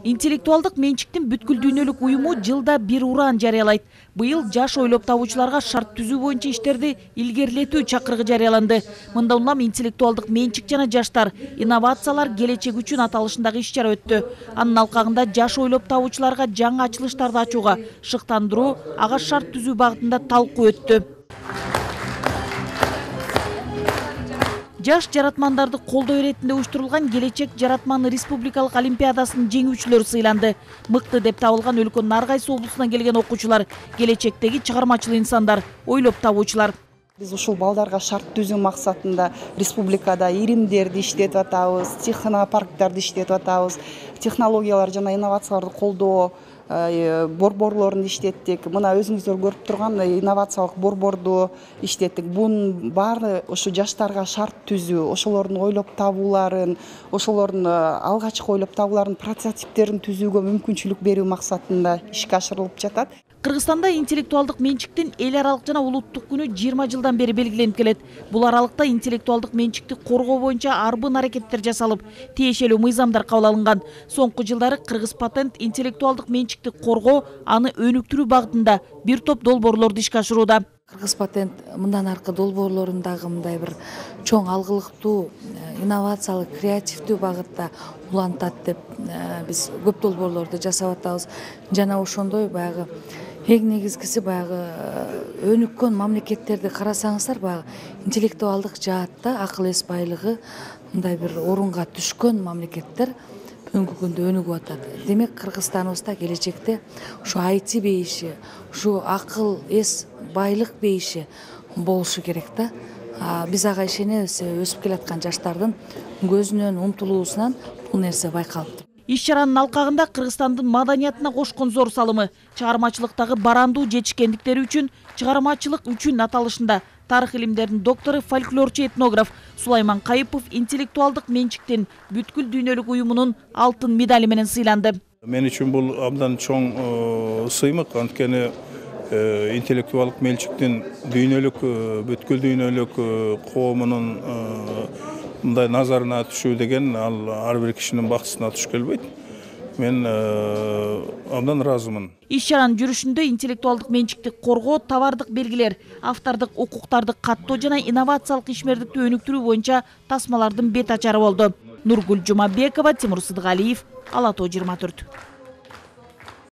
Интеллектуалдык менчиктин бүткүл дүйнөлүк уюму жылда бир ураан жарыялайт. Быйыл жаш ойлоп табуучуларга шарт түзүү боюнча иштерди илгерилетүү чакырыгы жарыяланды. Мында улам интеллектуалдык менчик жана жаштар, инновациялар келечек үчүн аталышындагы иш-чара өттү. Анын алкагында жаш ойлоп табуучуларга жаңы ачылыштарды ачууга, шыктандыруу, ага шарт түзүү багытында талкуу өттү. Жаш жаратмандарды колдоо иретинде уюштурулган Келечек жаратман республикалык олимпиадасынын жеңүүчүлөрү сыйланды. Мыкты деп табылган өлкөнүн ар кайсы облусунан келген окуучулар, келечектеги чыгармачыл инсандар, ойлоп табуучулар. Биз ушул балдарга шарт түзүү максатында республикада иримдерди иштетип атабыз, технопарктарды иштетип атабыз, технологиялар жана инновацияларды колдоо борборлорун иштеттик. Мына өзүңүздөр көрүп турган инновациялык борборду иштеттик. Бунун баары ушу жаштарга шарт түзүү, ошолордун ойлоп табууларын, ошолордун алгачкы ойлоп табууларынын прототиптерин түзүүгө мүмкүнчүлүк берүү максатында ишке ашырылып жатат. Кыргызстанда интеллектуалдык менчиктин эл аралык жана улуттук күнү 20 жылдан бери белгиленип келет. Бул аралыкта интеллектуалдык менчикти коргоо боюнча арбын аракеттер жасалып, тиешелүү мыйзамдар кабыл алынган. Соңку жылдары Кыргыз патент интеллектуалдык менчикти коргоо, аны өнүктүрүү багытында бир топ долбоорлорду ишке ашырууда. Кыргыз патент мындан аркы долбоорлорун дагы мындай бир чоң алгылыктуу, инновациялык, креативдүү багытта улантат деп биз көп долбоорлорду жасап атабыз. Жана ошондой баягы эң негизгиси баягы өнүккөн мамлекеттерди карасаңыздар, баягы интеллектуалдык жаатта акыл эс байлыгы мындай бир орунга түшкөн мамлекеттер бүгүнкү күндө өнүгүп атат. Демек Кыргызстаныбызда келечекте ушу IT бейиши, ушу акыл эс байлык бейиши болушу керек да. Биз ага ишенебиз, өсүп келаткан жаштардын көзүнөн, умтулуусунан бул нерсе байкалып. Иш-чаранын алкагында Кыргызстандын маданиятына кошкон зор салымы, чыгармачылыктагы барандуу жетишкендиктери үчүн чыгармачылык үчүн аталышында тарых илимдеринин доктору, фольклорчу, этнограф Сулайман Кайыпов интеллектуалдык менчиктин бүткүл дүйнөлүк уюмунун алтын медали менен сыйланды. Мен үчүн бул абдан чоң сыймык, анткени интеллектуалдык менчиктин бүткүл дүйнөлүк коомунун мындай назарына түшүү деген ал ар бир кишинин бактысына туш келбейт. Мен абдан ыраазымын. Иш-чаранын жүрүшүндө интеллектуалдык менчикти коргоо, товардык белгилер, автордук укуктарды каттоо жана инновациялык ишмердикти өнүктүрүү боюнча тасмалардын бет ачары болду. Нургүл Жумабекова, Тимур Сыдыгалиев, Ала Тоо 24.